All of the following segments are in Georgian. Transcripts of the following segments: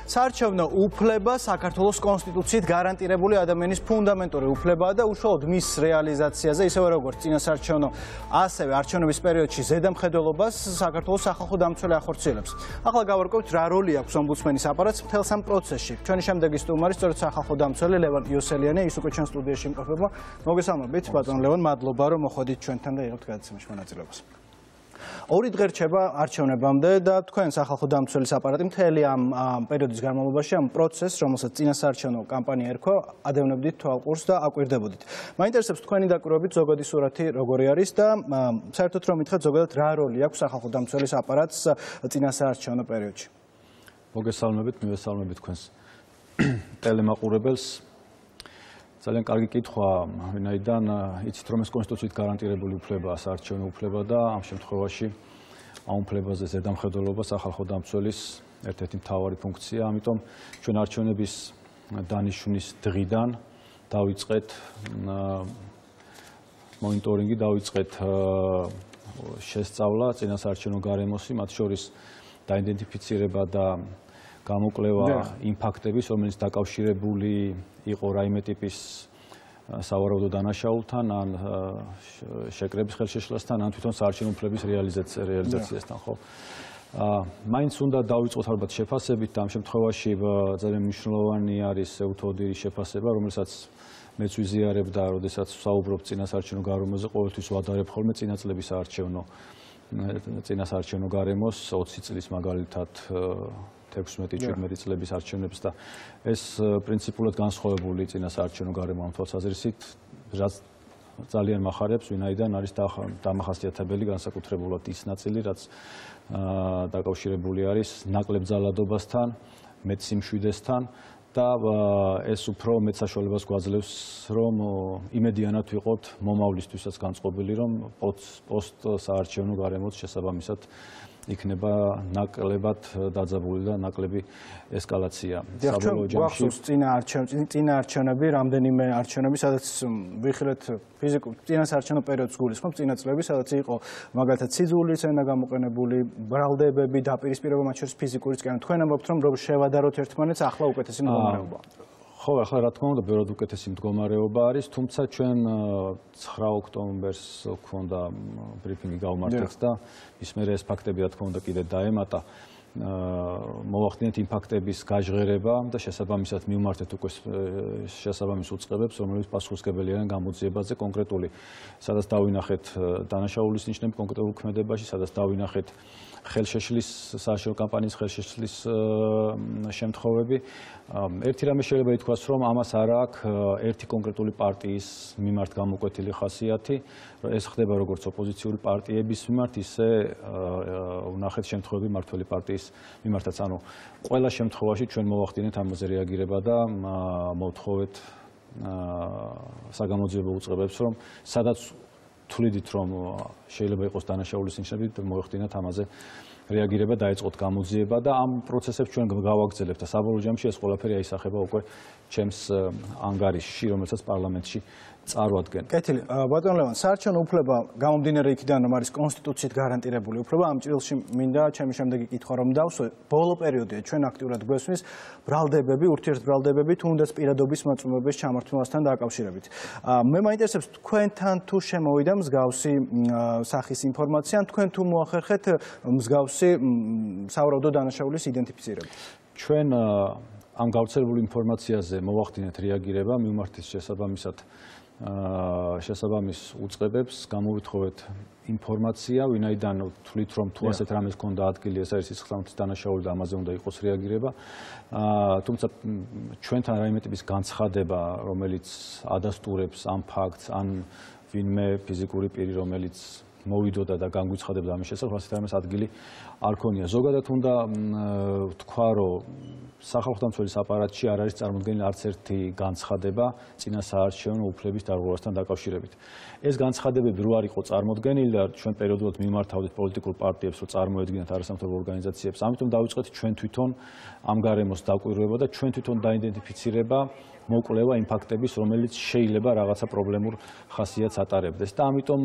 საარჩევნო უფლება საქართველოს კონსტიტუციით გარანტირებული ადამიანის ფუნდამენტური უფლებაა და უშუალოდ მის რეალიზაციაზე, ისევე როგორც წინასაარჩევნო, ასევე არჩევნების პერიოდში ზედამხედველობას საქართველოს სახალხო დამცველი ახორციელებს. ახლა გავარკვევთ, რა როლი აქვს ომბუდსმენის აპარატს მთელს ამ პროცესში. ჩვენი შემდეგი სტუმარი სწორედ სახალხო დამცველი ლევან იოსელიანია, ის უკვე ჩვენ სტუდიაში იმყოფება. მოგესალმებით, ბატონ ლევან, მადლობა რომ მოხვედით ჩვენთან და იღებთ გადაცემაში მონაწილეობას. ორი დღე რჩება არჩევნებამდე და თქვენ სახალხო დამცველის აპარატი მთელი ამ პერიოდის განმავლობაში ამ პროცესს, რომელსაც წინასაარჩევნო კამპანია ერქვა, ადევნებდით თვალყურს და აკვირდებოდით. მაინტერესებს თქვენი დაკვირვებით ზოგადი სურათი როგორი არის და საერთოდ რომ მითხრათ ზოგადად რა როლი აქვს სახალხო დამცველის აპარატს წინასაარჩევნო პერიოდში. მოგესალმებით, მივესალმებით თქვენს ტელემაყურებელს. ძალიან კარგი კითხვა, ვინაიდან იცით რომ ეს კონსტიტუციით გარანტირებული უფლებაა საარჩევნო უფლება და ამ შემთხვევაში ამ უფლებაზე ზედამხედველობა სახალხო დამცველის ერთ-ერთი მთავარი ფუნქცია. ამიტომ ჩვენ არჩევნების დანიშვნის დღიდან დავიწყეთ მონიტორინგი, დავიწყეთ შესწავლა წინასაარჩევნო გარემოსი, მათ შორის დაიდენტიფიცირება და გამოკვლევა იმ ფაქტების, რომელიც დაკავშირებული იყო რაიმე ტიპის სავარაუდო დანაშაულთან, ან შეკრების ხელშეშლასთან, ან თვითონ საარჩევნო უფლების რეალიზაციასთან, ხო? მაინც უნდა დავიწყოთ ალბათ შეფასებით და ამ შემთხვევაში ძალიან მნიშვნელოვანი არის ევთოდირის შეფასება, რომელსაც მეც ვიზიარებ და როდესაც ვსაუბრობ წინასაარჩევნო გარემოზე, ყოველთვის ვადარებ ხოლმე წინასაარჩევნო გარემოს 20 წლის მაგალითად 16-17 წლების არჩევნებს და ეს პრინციპულად განსხვავებული წინასაარჩევნო გარემო ამ თვალსაზრისით, რაც ძალიან მახარებს, ვინაიდან არის დამახასიათებელი განსაკუთრებულად ის ნაწილი, რაც დაკავშირებული არის ნაკლებ ძალადობასთან, მეტ სიმშვიდესთან და ეს უფრო მეტ საშუალებას გვაძლევს, რომ იმედიანად ვიყოთ მომავლისთვისაც განწყობილი, რომ პოსტ საარჩევნო გარემოც შესაბამისად იქნება ნაკლებად დაძაბული და ნაკლები ესკალაცია. საბოლოო ჯამში წინა არჩევნები, რამდენიმე არჩევნები, სადაც ვიხილეთ ფიზიკურ წინასაარჩევნო პერიოდს გულისხმობ, წინა წლები, სადაც იყო მაგალითად სიძულის ენა გამოყენებული, ბრალდებები, დაპირისპირება, მათ შორის ფიზიკურიც კი. თქვენ ამბობთ, რომ შევადაროთ ერთმანეთს, ახლა უკეთესი მდგომარეობა. ხო, ახლა რა თქმა უნდა, ბევრად უკეთესი მდგომარეობა არის, თუმცა ჩვენ 9 ოქტომბერს გვქონდა ბრიფინგი გავმართეთ და ის მერე ეს ფაქტები რა თქმა უნდა კიდე დაემატა. მოვახდინეთ იმ ფაქტების გაჟღერება და შესაბამისად მივმართეთ უკვე შესაბამის უწყებებს, რომლებიც პასუხისმგებელი არიან გამოძიებაზე კონკრეტული, სადაც დავინახეთ დანაშაულის ნიშნები კონკრეტულ ქმედებაში, სადაც დავინახეთ ხელშეშლის საარჩევნო კამპანიის ხელშეშლის შემთხვევები. ერთი რამე შეიძლება ითქვას, რომ ამას არ აქვს ერთი კონკრეტული პარტიის მიმართ გამოკვეთილი ხასიათი. ეს ხდება როგორც ოპოზიციური პარტიების მიმართ, ისე ვნახეთ შემთხვევები მმართველი პარტიის მიმართაც. ანუ ყველა შემთხვევაში ჩვენ მოვახდინეთ ამაზე რეაგირება და მოვთხოვეთ საგამოძიებო უწყებებს, რომ სადაც თვლიდით, რომ შეიძლება იყოს დანაშაულის ნიშნები, მოეხდინათ ამაზე რეაგირება, დაიწყოთ გამოძიება და ამ პროცესებს ჩვენ გავაგრძელებთ და საბოლოო ჯამში ეს ყველაფერი აისახება უკვე ჩემს ანგარიშში, რომელსაც პარლამენტში წარვადგენ. კეთილი, ბატონ ლევან, საარჩევნო უფლება გამომდინარე იქიდან, რომ არის კონსტიტუციით გარანტირებული უფლება, ამ ჭრილში მინდა ჩემი შემდეგი კითხვა რომ დავსვე. ბოლო პერიოდია ჩვენ აქტიურად გვესმის ბრალდებები, ურთიერთბრალდებები, თუნდაც პირადობის მოწმობების ჩამართმევასთან დაკავშირებით. მე მაინტერესებს თქვენთან თუ შემოვიდა მსგავსი სახის ინფორმაცია, ან თქვენ თუ მოახერხეთ მსგავსი სავარაუდო დანაშაულის იდენტიფიცირება. ჩვენ ამ გავრცელებული ინფორმაციაზე მოვახდინეთ რეაგირება, მივმართეთ შესაბამის უწყებებს, გამოვითხოვეთ ინფორმაცია, ვინაიდან თვლით, რომ თუ ასეთ რამეს ქონდა ადგილი, ეს არის სისხლთმათის დანაშაული და ამაზე უნდა იყოს რეაგირება. თუმცა ჩვენთან რაიმე ტიპის განცხადება, რომელიც ადასტურებს ამ ფაქტს, ან ვინმე ფიზიკური პირი, რომელიც მოვიდოდა და განგვიცხადებდა ამის შესახებ, ასეთ რამეს ადგილი არ ქონია. ზოგადად უნდა ვთქვა, რომ სახალხო დამცველის აპარატში არ არის წარმოდგენილი არც ერთი განცხადება წინასაარჩევნო უფლების დარღვევასთან დაკავშირებით. ეს განცხადებები რო არ იყო წარმოდგენილი და ჩვენ პერიოდულად მიმართავდით პოლიტიკურ პარტიებს, რომ წარმოედგინათ არასამთავრობო ორგანიზაციებს, ამიტომ დავიწყეთ ჩვენ თვითონ ამ გარემოს დაკვირვება და ჩვენ თვითონ დაიდენტიფიცირება მოკვლევა იმ ფაქტების, რომელიც შეიძლება რაღაცა პრობლემურ ხასიათს ატარებდეს და ამიტომ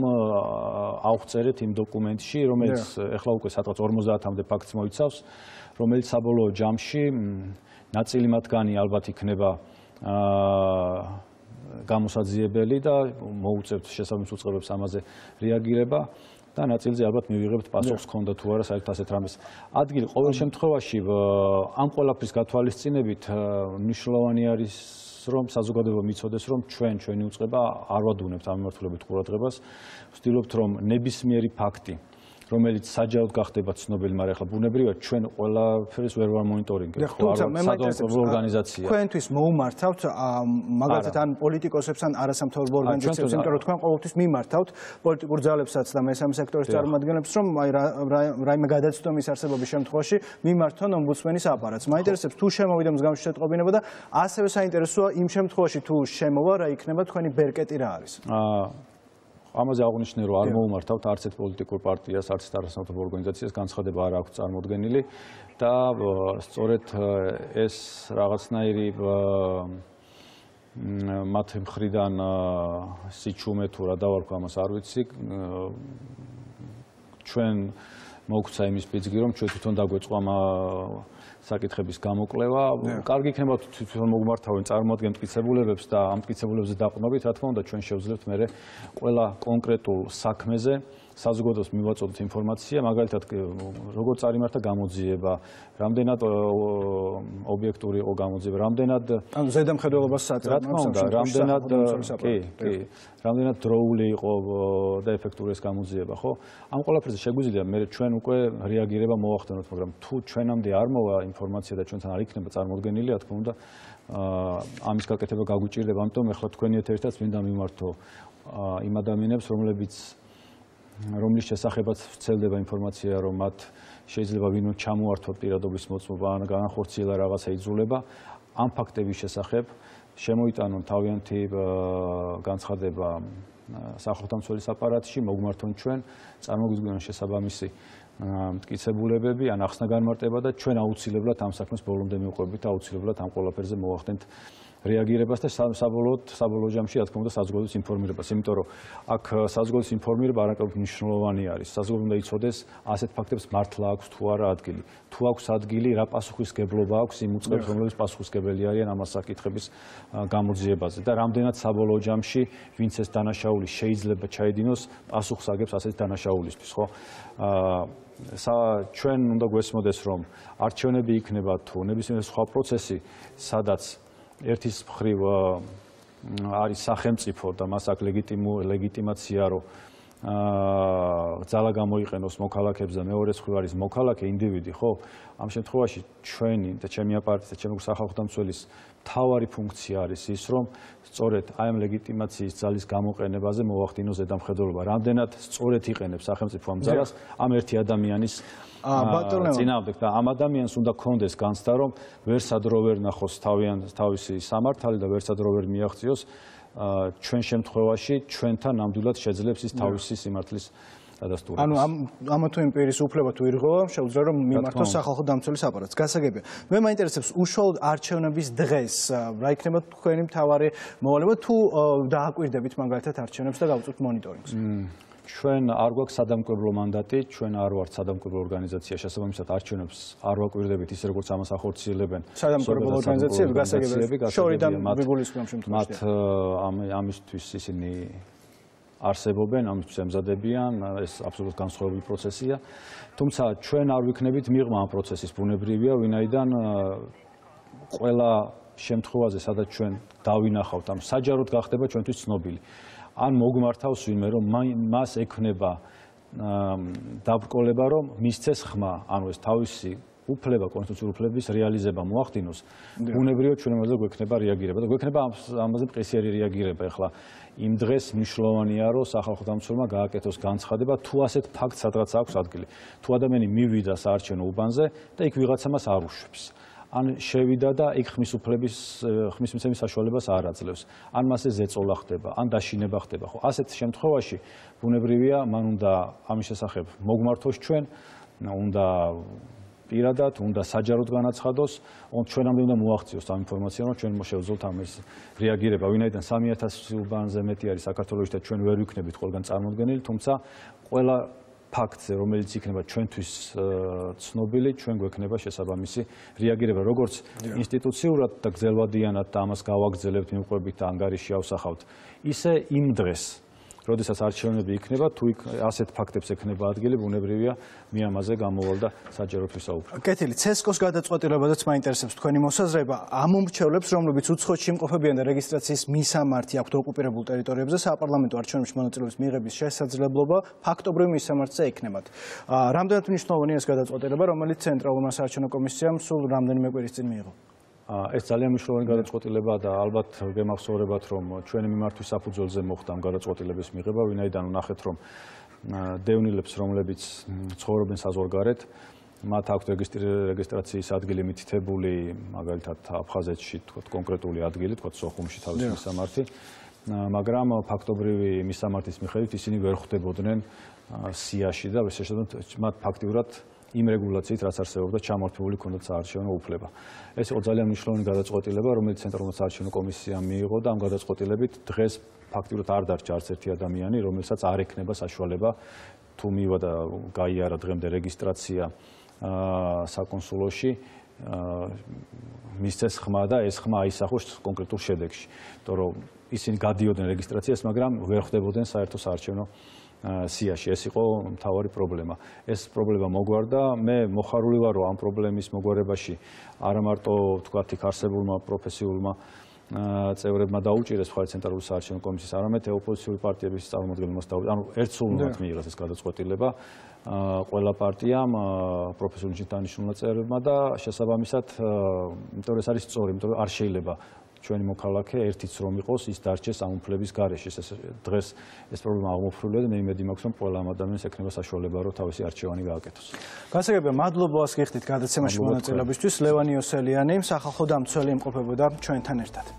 ავწერეთ იმ დოკუმენტში, რომელიც ეხლა უკვე სადღაც 50-მდე ფაქტს მოიცავს, რომელიც საბოლოო ჯამში ნაწილი მათგანი ალბათ იქნება გამოსაძიებელი და მოუწევთ შესაბამის უწყებებს ამაზე რეაგირება და ნაწილზე ალბათ მივიღებთ პასუხს ქონდა თუ არა საერთოდ ასეთ რამეს ადგილი. ყოველ შემთხვევაში ამ ყველაფრის გათვალისწინებით მნიშვნელოვანი არის რომ საზოგადოება მიცოდეს რომ ჩვენი უწყება არ ვადუნებთ ამ მიმართულებით ყურადღებას. ვცდილობთ რომ ნებისმიერი ფაქტი რომელიც საჯაროდ გახდება ცნობილი, მაგრამ ახლა ბუნებრივად ჩვენ ყველაფერს ვერ ვამონიტორინგებთ. სადამსახურებო ორგანიზაცია. თქვენთვის მოუმართავთ მაგალითად ან პოლიტიკოსებს ან არასამთავრობო ორგანიზაციებს, იმიტომ რომ თქვენ ყოველთვის მიმართავთ პოლიტიკურ ძალებსაც და მესამე სექტორის წარმომადგენლებს, რომ რაიმე გადაცდომის არსებობის შემთხვევაში მიმართონ ომბუდსმენის აპარატს. მაინტერესებს თუ შემოვიდა მსგავსი შეტყობინება და ასევე საინტერესოა იმ შემთხვევაში თუ შემოვა რა იქნება თქვენი ბერკეტი რა არის. ამაზე აღნიშნე რომ არ მოუმართავთ არც ერთ პოლიტიკურ პარტიას, არც ერთ არასამთავრობო ორგანიზაციას განცხადება არ აქვს წარმოდგენილი და სწორედ ეს რაღაცნაირი მათ მხრიდან სიჩუმე თუ რა დავარქვა ამას არ ვიცი ჩვენ მოგვცა იმის პიძგი რომ ჩვენ თვითონ დაგვეწყვა საკითხების გამოკვლევა. კარგი იქნება თვითონ მოგმართავენ წარმოადგენთ მტკიცებულებებს და ამ მტკიცებულებებზე დაყრდნობით, რა თქმა უნდა, ჩვენ შევძლებთ მე ყველა კონკრეტულ საქმეზე საზოგადოებას მივაწოდოთ ინფორმაცია, მაგალითად, როგორ წარიმართა გამოძიება, რამდენად ობიექტური იყო გამოძიება, რამდენად ანუ ზედამხედველობას საწარმოებს, რამდენად დროული იყო და ეფექტური ეს გამოძიება, ხო? ამ ყველაფერზე შეგვიძლია მე ჩვენ უკვე რეაგირება მოვახდენოთ, მაგრამ თუ ჩვენამდე არ მოვა ინფორმაცია და ჩვენთან არ იქნება წარმოდგენილი, რა თქმა უნდა, ამის გაკეთება გაგვიჭირდება, ამიტომ ეხლა თქვენი ერთადერთად მინდა მიმართო იმ ადამიანებს, რომლის შესახებაც ვრცელდება ინფორმაცია, რომ მათ შეიძლება ვინმე ჩამოართვა პირადობის მოწმობა ან განახორციელა რაღაცა იძულება, ამ ფაქტების შესახებ შემოიტანონ თავიანთი განცხადება სახელმწიფოს აპარატში, მოგმართონ ჩვენ, წარმოგვიდგინონ შესაბამისი მტკიცებულებები ან ახსნა განმარტება და ჩვენ აუცილებლად ამ საქმეს ბოლომდე მივყვებით და აუცილებლად ამ ყველაფერზე მოვახდენთ რეაგირებას და საბოლოო ჯამში, რა თქმა უნდა, საზოგადოების ინფორმირებას, იმიტომ რომ აქ საზოგადოების ინფორმირება არაკმაოდ მნიშვნელოვანი არის. საზოგადოება უნდა იცოდეს ასეთ ფაქტებს მართლა აქვს თუ არა ადგილი. თუ აქვს ადგილი, რა პასუხისმგებლობა აქვს იმ უწყებებს, რომლებიც პასუხისმგებელი არიან ამ საკითხების გამოძიებაზე და რამდენად საბოლოო ჯამში ვინც ეს დანაშაული შეიძლება ჩაედინოს, პასუხს აგებს ასეთ დანაშაულისთვის, ხო? ჩვენ უნდა გვესმოდეს, რომ არჩევნები იქნება თუ ნებისმიერი სხვა პროცესი, სადაც ერთის მხრივ არის სახელმწიფო და მას აქვს ლეგიტიმაცია, რომ ძალა გამოიყენოს მოქალაქეებს და მეორე მხრივ არის მოქალაქე ინდივიდი, ხო? ამ შემთხვევაში ჩვენი და ჩემი აპარატის და ჩემი სახალხო დამცველის მთავარი ფუნქცია არის ის, რომ სწორედ აი ამ ლეგიტიმაციის ძალის გამოყენებაზე მოვახდინოს ზედამხედველობა. რამდენად სწორედ იყენებს სახელმწიფო ამ ძალას ამ ერთი ადამიანის წინააღმდეგ და ამ ადამიანს უნდა კონდეს განცდა, რომ ვერსად რო ვერ ნახოს თავისი სამართალი და ვერსად რო ვერ მიაღწიოს ჩვენ შემთხვევაში ჩვენთან ნამდვილად შეძლებს ის თავისი სიმართლის დადასტურებას. ანუ ამა თუ იმ პირის უფლება თუ ირღვევა, შეუძლია რომ მიმართოს სახალხო დამცველის აპარატს. გასაგებია. მე მაინტერესებს უშუალოდ არჩევნების დღეს რა იქნება თქვენი მთავარი მოვალეობა თუ დააკვირდებით მაგალითად არჩევნებს და გავუწევთ მონიტორინგს. ჩვენ არ გვაქვს სადამკვირვებლო მანდატი, ჩვენ არ ვართ სადამკვირვებლო ორგანიზაცია, შესაბამისად არჩევნებს არ ვაკვირდებით ისე როგორც ამას ახორციელებენ სადამკვირვებლო ორგანიზაციები, გასაგებია. შორიდან ვიგულისხმობ შემთხვევაში. მათ ამისთვის ისინი არსებობენ, ამისთვის ემზადებიან, ეს აბსოლუტურად განსხვავებული პროცესია. თუმცა ჩვენ არ ვიქნებით მიღმა ამ პროცესის ბუნებრივია, ვინაიდან ყველა შემთხვევაზე, სადაც ჩვენ დავინახავთ, ამ საჯაროდ გახდება ჩვენთვის ცნობილი. ან მოგმართავს ვინმე, რომ მას ექნება დაბრკოლება, რომ მისცეს ხმა, ანუ ეს თავისი უფლება, კონსტიტუციური უფლების რეალიზება მოახდინოს, ბუნებრივად ჩვენ ამაზე გვექნება რეაგირება და გვექნება ამაზე მყისიერი რეაგირება. ეხლა იმ დღეს მნიშვნელოვანია, რომ სახალხო დამცველმა გააკეთოს განცხადება, თუ ასეთ ფაქტს სადღაც აქვს ადგილი. თუ ადამიანი მივიდა საარჩევნო უბანზე და იქ ვიღაცა მას არ უშვებს. ან შევიდა და იქ ხმის მიცემის საშუალებას არ აძლევს. ან მასზე ზეწოლა ხდება, ან დაშინება ხდება. ხო, ასეთ შემთხვევაში ბუნებრივია, მან უნდა ამის შესახებ მოგმართოს ჩვენ, უნდა პირადად, უნდა საჯაროდ განაცხადოს, ჩვენამდე უნდა მოაღწიოს ამ ინფორმაციამ, რომ ჩვენ შევძლოთ ამის რეაგირება. ვინაიდან 3000 უბანზე მეტი არის საქართველოში და ჩვენ ვერ ვიქნებით ყველგან წარმოდგენილი, თუმცა ყველა ფაქტზე, რომელიც იქნება ჩვენთვის ცნობილი, ჩვენ გვექნება შესაბამისი რეაგირება, როგორც ინსტიტუციურად და გრძელვადიანად და ამას გავაგრძელებთ, მივყვებით და ანგარიში ავსახავთ, ისე იმ დღეს, როდესაც არჩევნები იქნება, თუ ასეთ ფაქტებს ექნება ადგილი, ბუნებრივია, მე ამაზე გამოვალ და საჯაროდ ვისაუბრებ. კეთილი, CESCO-ს გადაწყვეტილებადაც მაინტერესებს თქვენი მოსაზრება. ამ მომრჩევლებს, რომლებიც უცხოეთში იმყოფებიან და რეგისტრაციის მისამართი აქვთ ოკუპირებულ ტერიტორიებზე, საპარლამენტო არჩევნებში მონაწილეობის მიღების შესაძლებლობა ფაქტობრივ მისამართზე ექნებათ. რამდენად მნიშვნელოვანია ეს გადაწყვეტილება, რომელიც ცენტრალურმა საარჩევნო კომისიამ სულ რამდენიმე კვირის წინ მიიღო? ეს ძალიან მნიშვნელოვანი გადაწყვეტილებაა და ალბათ გემახსოვრებათ, რომ ჩვენი მიმართვის საფუძველზე მოხდა ამ გადაწყვეტილების მიღება, ვინაიდან ნახეთ, რომ დევნილებს, რომლებიც ცხოვრობენ საზღვარგარეთ, მათ აქვთ რეგისტრაციის ადგილი მითითებული, მაგალითად აფხაზეთში, თქვათ კონკრეტული ადგილი, თქვათ სოხუმში თავის მისამართი, მაგრამ ფაქტობრივი მისამართის მიხედვით ისინი ვერ ხვდებოდნენ სიაში და მათ ფაქტიურად იმ რეგულაციით, რაც არსებობდა, ჩამართული ქონდათ საარჩევნო უფლება. ეს იყო ძალიან მნიშვნელოვანი გადაწყვეტილება, რომელიც ცენტრალურმა საარჩევნო კომისიამ მიიღო და ამ გადაწყვეტილებით დღეს ფაქტიურად არ დარჩა არც ერთი ადამიანი, რომელსაც არ ექნება საშუალება თუ მივა და გაიარა დღემდე რეგისტრაცია საკონსულოში, მისცეს ხმა და ეს ხმა აისახოს კონკრეტულ შედეგში. იმიტომ რომ ისინი გადიოდნენ რეგისტრაციას, მაგრამ ვერ ხვდებოდნენ საერთო საარჩევნო სიაში. ეს იყო მთავარი პრობლემა. ეს პრობლემა მოგვარდა. მე მოხარული ვარ, რომ ამ პრობლემის მოგვარებაში არა მარტო თქვათ იქ არსებულმა პროფესიულმა წევრებმა დაუჭირეს მხარი ცენტრალური საარჩევნო კომისიის, არამედ ოპოზიციური პარტიების წარმომადგენლებმაც დაუჭირეს. ანუ ერთსულურად მიიღეს ეს გადაწყვეტილება ყველა პარტიამ, პროფესიული შინაარსის წევრებმა და შესაბამისად, იმიტომ რომ ეს არის სწორი, იმიტომ რომ არ შეიძლება ჩვენი მოქალაქე ერთიც რომ იყოს, ის დარჩეს ამ უფლების გარეშე. დღეს ეს პრობლემა აღმოფხვრილია და მე იმედი მაქვს, რომ ყველა ადამიანს ექნება საშუალება, რომ თავისი არჩევანი გააკეთოს. გასაგებია, მადლობა вас გიხდით გადაცემაში მონაწილეობისთვის. ლევან იოსელიანი, სახალხო დამცველი იმყოფებოდა ჩვენთან ერთად.